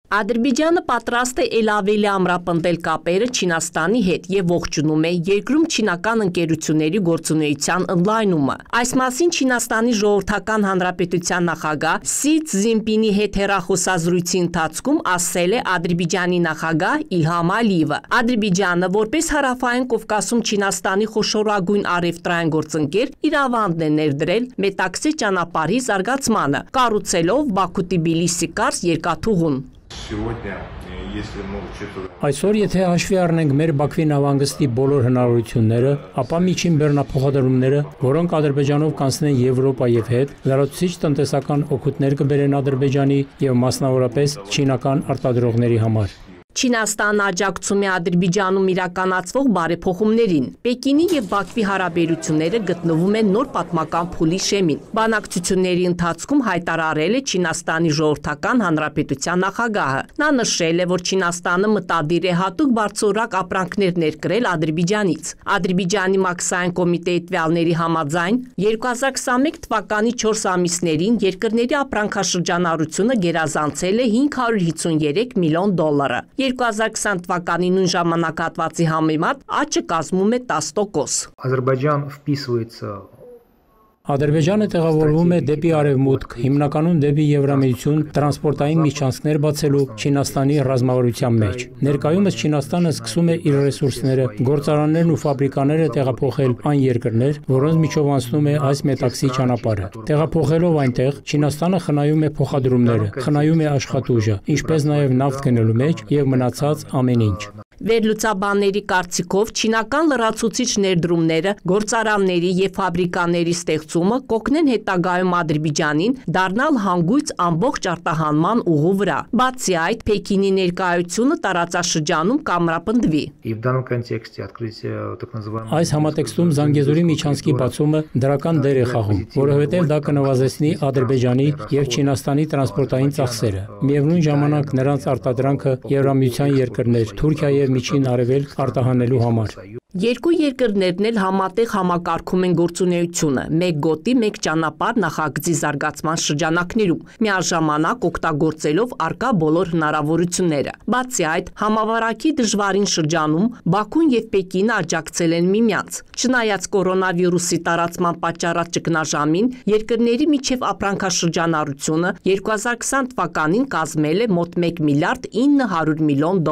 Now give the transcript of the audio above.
Ադրբեջանը պատրաստ է ել ավելի ամրապնդել կապերը Չինաստանի հետ և ողջունում է երկրում չինական ընկերությունների գործունեության ընդլայնումը։ Այս մասին Չինաստանի Ժողովրդական Հանրապետության նախագահ Սի Ցզինպինի հետ հեռախոսազրույցի ընթացքում ասել է Ադրբեջանի նախագահ Իլհամ Ալիևը։ Ադրբեջանը, որպես Հարավային Կովկասում Չինաստանի խոշորագույն առևտրային գործընկեր, իր ավանդն է ներդրել Մետաքսե ճանապարհի զարգացմանը, կառուցելով Բաքու-Թբիլիսի կարճ երկաթուղուն։ Այսօր, եթե հաշվի առնենք մեր Բաքվի նավահանգստի բոլոր հնարավորությունները, ապա միջին բեռնափոխադրումները, որոնք Ադրբեջանով կանցնեն Եվրոպա և հետ, լրացուցիչ տնտեսական օգուտներ կբերեն Ադրբեջանի և մասնավորապես չինական արտադրողների համար։ Չինաստանն աջակցում է Ադրբեջանում իրականացվող բարեփոխումներին։ Պեկինի և Բաքվի հարաբերությունները գտնվում են նոր պատմական փուլի շեմին։ Բանակցությունների ընթացքում հայտարարել է Չինաստանի Ժողովրդական Հանրապետության նախագահը։ Նա նշել է, որ Չինաստանը մտադիր է հատուկ բարձրորակ ապրանքներ ներկրել Ադրբեջանից։ Ադրբեջանի մաքսային կոմիտեի տվյալների համաձայն 2021 թվականի 4 ամիսներին երկրների ապրանքաշրջանառությունը գերազանցել է $553 միլիոն։ 2020 թվականի նույն ժամանակահատվածի համեմատ աճը կազմում է 10%։ Ադրբեջանը տեղավորվում է դեպի արևմուտք, հիմնականում դեպի Եվրամիություն տրանսպորտային միջանցքներ բացելու Չինաստանի ռազմավարության մեջ։ Ներկայումս Չինաստանը սկսում է իր ռեսուրսները, գործարաններն ու ֆաբրիկաները տեղափոխել այն երկրներ, որոնց միջով անցնում է այս Մետաքսի ճանապարհը։ Տեղափոխելով այնտեղ, Չինաստանը խնայում է փոխադրումները, խնայում է աշխատուժը, ինչպես նաև նավթ գնելու մեջ և մնացած ամեն ինչ։ Վերլուծաբանների կարծիքով չինական լրացուցիչ ներդրումները, գործարանների և ֆաբրիկաների ստեղծումը կօգնեն հետագայում Ադրբեջանին դառնալ հանգույց ամբողջ արտահանման ուղու վրա։ Բացի այդ, Պեկինի ներկայությունը տարածաշրջանում կամրապնդվի։ Այս համատեքստում Զանգեզուրի միջանցքի բացումը դրական դեր է խաղում, որովհետև դա կնվազեցնի Ադրբեջանի և Չինաստանի տրանսպորտային ծախսերը։ Միևնույն ժամանակ նրանց արտադրանքը Եվրամիության երկրներ, Թուրքիա և Միջին Արևելք արտահանելու համար։ Երկու երկրներն էլ համատեղ համակարգում են գործունեությունը մեկ գոտի, մեկ ճանապարհ նախագծի զարգացման շրջանակներում, միաժամանակ օգտագործելով առկա բոլոր հնարավորությունները։ Բացի այդ, համավարակի դժվարին շրջանում Բաքուն և Պեկինը աջակցել են միմյանց։ Չնայած կորոնավիրուսի տարածման պատճառած ճգնաժամին, երկրների միջև ապրանքաշրջանառությունը 2020 թվականին կազմել է մոտ $1 միլիարդ 900 միլիոն։